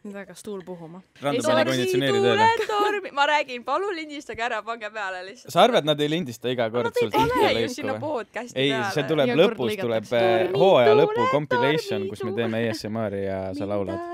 Nüüd väga stuul puhuma. Random pani konditsioneeri tööle. Ma räägin, palun lindistage ära, pange peale lihtsalt. Sa arvad, nad ei lindista iga kord sul Pane ju sinna podcasti ei, peale. see tuleb lõpus, tuleb hooaja lõpu compilation, kus me teeme ASMR-i ja sa laulad.